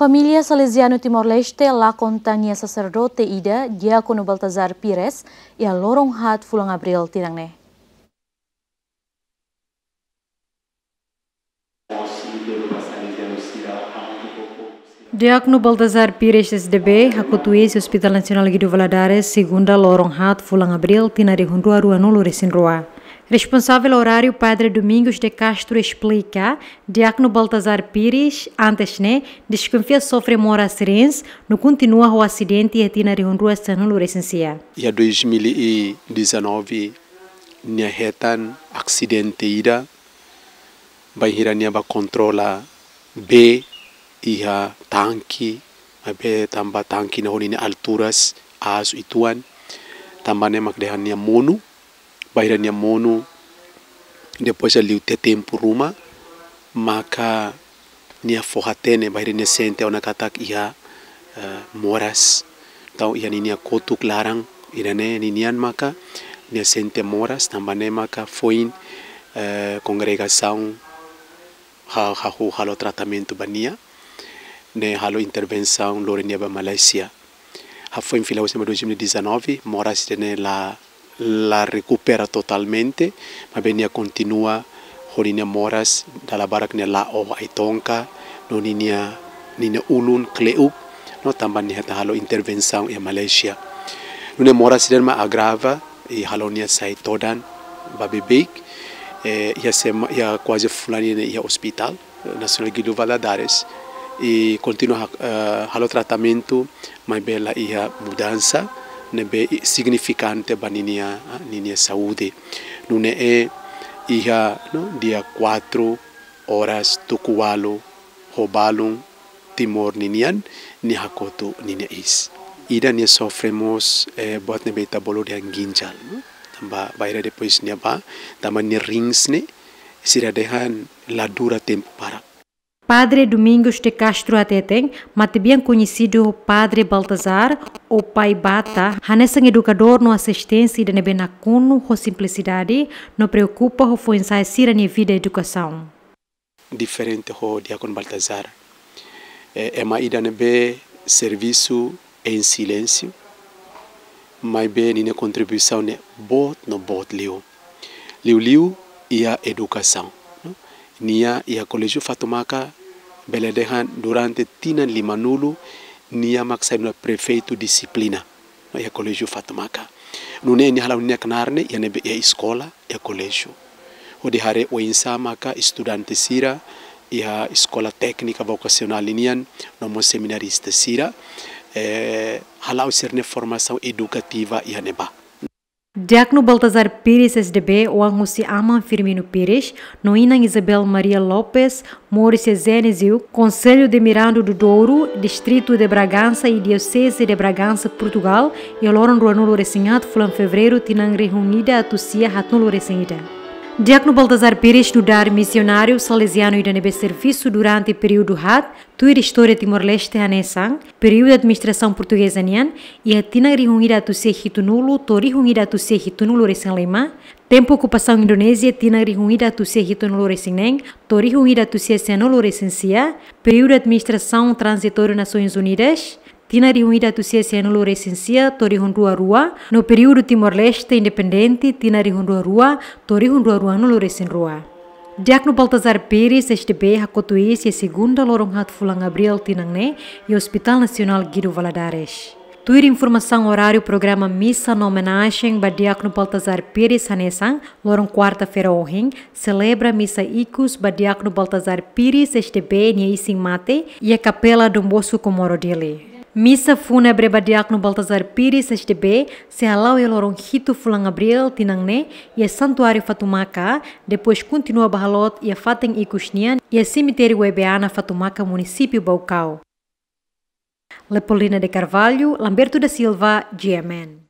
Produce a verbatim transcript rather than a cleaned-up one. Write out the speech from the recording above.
Família Salesianu Timor-Leste lakon tan nia saserdote ida, Diákonu Baltazar Pires, iha loron haat fulan Abríl tinan ne'e. Diákonu Baltazar Pires, S D B, hakotu iis iha Hospital Nasionál Guido Valadares, segunda, loron haat fulan Abríl, tinan rihun rua ruanulu resin rua. Responsavel oráriu, Padre Domingos de Castro, esplika, Diákonu Baltazar Pires, antes ne'e, deskonfia sofre moras rins, no kontinua ho asidente iha tinan rihun rua sanulu resin sia. Iha dois mil e dezanove, nia hetan asidente ida, bainhira nia bá kontrola bee iha tanke, maibé tanba tanke ne'e ho ninia alturas aas uitoan, tanba ne'e mak dehan nia monu, bainhira nia monu, depois liu tiha tempu ruma, maka nia fó hatene, bainhira nia sente ona katak iha, eh, moras. Entaun iha ninia kotuk laran, ida-ne'e ninian maka nia sente moras, tanba ne'e maka foin, eh, kongregasaun ha-, hahú halo tratamentu ba nia, ne'e halo intervensaun lori nia ba Malázia. Hafoin fila husi dois mil e dezanove, moras ida-ne'e la, la rekupera totalmente, maibé nia kontinua ho ninia moras, dala barak nia la'o ai-tonka, no ninia, ninia ulun kle'uk, no tanba nia hetan halo intervensaun iha Malázia. Nune'e moras ida-ne'e mak agrava, i halo nia sai todan ba beibeik, eh, iha sema-, iha kuaze fulan ida-ne'e iha Hospital Nasionál Guido Valadares, i kontinua ha-, eh, halo tratamentu, maibé la iha mudansa ne'ebé i-, signifikante ba ninia, ah, ninia saúde. Nune'e iha, no, dia quatro horas tuku ualu ho balun Timor ninian, nia hakotu ninia iis. Ida nia sofre mós, eh, buat ne'ebé ita bolu dehan ginjal, no? Tanba bainhira depois nia bá, tanba nia rins ne'e, sira dehan la dura tempu para. Padre Domingos de Castro hateten, matebian koñesidu ho Padre Baltazar, ou Pai Bata, hanesan edukadór no asistente ida ne'ebé nakonu ho simplisidade, no preokupa ho foin-sa'e sira-nia vida edukasaun. Diferente ho Diákonu Baltazar. Eh, ema ida ne'ebé servisu em silêncio, maibé ninia kontribuisaun ne'e boot no boot liu. Liuliu iha edukasaun, no? Nia iha Koléjiu Fatumaka, bele dehan durante tinan limanulu, nia mak sai nu'udar prefeitu dixiplina, no, iha Koléjiu Fatumaka. Nune'e nia hala'o ninia knaar ne'e iha ne'ebé, iha eskola, iha koléjiu. Hodi haree oinsá maka estudante sira iha Eskola Téknika Vokasionál ninian, no mós seminarista sira, eh, hala'o sira-nia formasaun edukativa iha ne'ebá. Diákonu Baltazar Pires, S D B, oan husi Aman Firmino Pires, no Inan Isabel Maria Lopes, moris iha Genesio, Conselho de Miranda do Douro, Distrito de Bragança e Diocese de Bragança, Portugal, iha loron ruanulu resin haat fulan Fevereiru, tinan rihun ida atus sia haatnulu resin ida. Diákonu Baltazar Pires nu'udar misionáriu Salesianu ida ne'ebé servisu durante períodu haat, tuir istória Timor-Leste hanesan, períodu administrasaun portugeza nian, iha tinan rihun ida atus sia hitunulu to'o rihun ida atus sia hitunulu resin lima, tempu okupasaun Indonézia tinan rihun ida atus sia hitunulu resin neen to'o rihun ida atus sia sianulu resin sia, períodu administrasaun tranzitóriu Nasoins Unidas, tinan rihun ida atus sia sianulu resin sia to'o rihun rua rua, no períodu Timor-Leste independente, tinan rihun rua rua to'o rihun rua ruanulu resin rua. Diákonu Baltazar Pires, S D B, hakotu iis iha segunda loron haat fulan Abríl tinan ne'e, iha Hospital Nasionál Guido Valadares. Tuir informasaun oráriu programa misa no omenajen ba Diákonu Baltazar Pires hanesan, loron kuarta-feira ohin, selebra misa ikus ba Diákonu Baltazar Pires, S D B, nia isin-mate, iha Kapela Dom Bosco Comoro, Dili. Misa fúnebre ba Diákonu Baltazar Pires, S D B, sei hala'o iha loron hitu fulan Abríl tinan ne'e, iha Santuáriu Fatumaka, depois kontinua ba haloot iha fatin ikus nian, iha Semitériu Webeana Fatumaka, Munisípiu Baucau. Leopoldina de Carvalho, Lamberto da Silva, G M N.